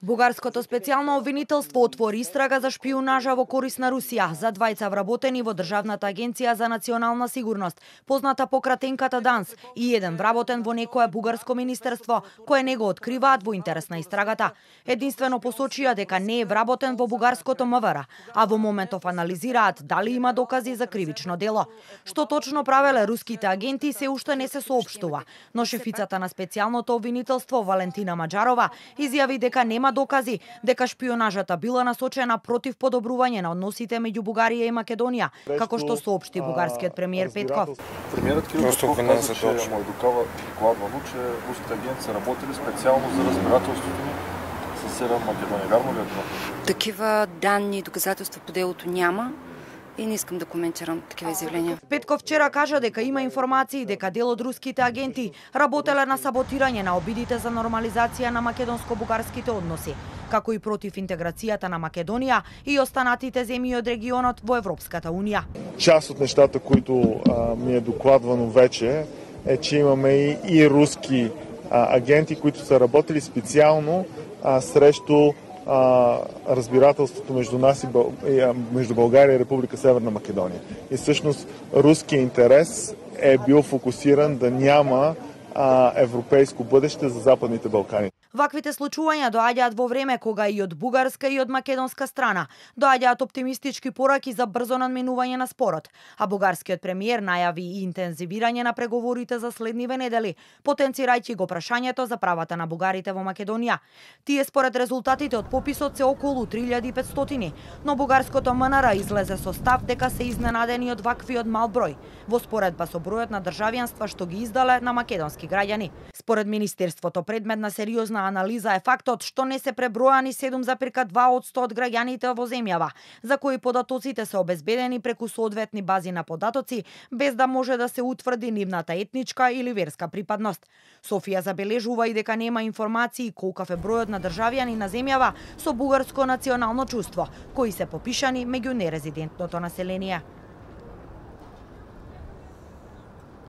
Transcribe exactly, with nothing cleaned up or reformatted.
Бугарското специјално обвинителство отвори истрага за шпиунажа во корист на Русија за двајца вработени во Државната агенција за национална сигурност, позната по кратенката ДАНС, и еден вработен во некое бугарско министерство, кое не го откриваат во интерес на истрагата. Единствено посочија дека не е вработен во бугарското МВР, а во моментов анализираат дали има докази за кривично дело. Што точно правеле руските агенти се уште не се соопштува, но шефицата на специјалното обвинителство Валентина Маџарова изјави дека нема докази дека шпионажата била насочена против подобрување на односите меѓу Бугарија и Македонија, како што соопшти бугарскиот премиер Петков. Премиерот Кирил Петков каза, че му е докладвано, че руските агенти са работили специјално за разбирателството ни со Северна Македонија. Вярно ли е това? Такива данни и доказателства по делото няма. И не искам да коментирам такива изјавления. Петков вчера кажа дека има информации дека дел од руските агенти работеле на саботирање на обидите за нормализација на македонско-бугарските односи, како и против интеграцијата на Македонија и останатите земји од регионот во Европската унија. Част од нештата които а, ми е докладвано вече е, че имаме и, и руски а, агенти които са работили специјално а, срещу А, разбирателството между нас и Бъл... между България и Република Северна Македонија. И всъщност руският интерес е бил фокусиран да няма а, европейско бъдеще за Западните Балкани. Ваквите случувања доаѓаат во време кога и од бугарска и од македонска страна доаѓаат оптимистички пораки за брзо надминување на спорот, а бугарскиот премиер најави и интензивирање на преговорите за следниве недели, потенцирајќи го прашањето за правата на бугарите во Македонија. Тие според резултатите од пописот се околу три илјади и петстотини, но бугарското МНР излезе со став дека се изненадени од ваквиот мал број, во споредба со бројот на државјанства што ги издале на македонски граѓани. Според министерството, предмет на сериозна анализа е фактот што не се пребројани седум зарем два одсто од граѓаните во земјава, за кои податоците се обезбедени преку соодветни бази на податоци, без да може да се утврди нивната етничка или верска припадност. Софија забележува и дека нема информации колкав е бројот на државјани на земјава со бугарско национално чувство, кои се попишани меѓу нерезидентното население.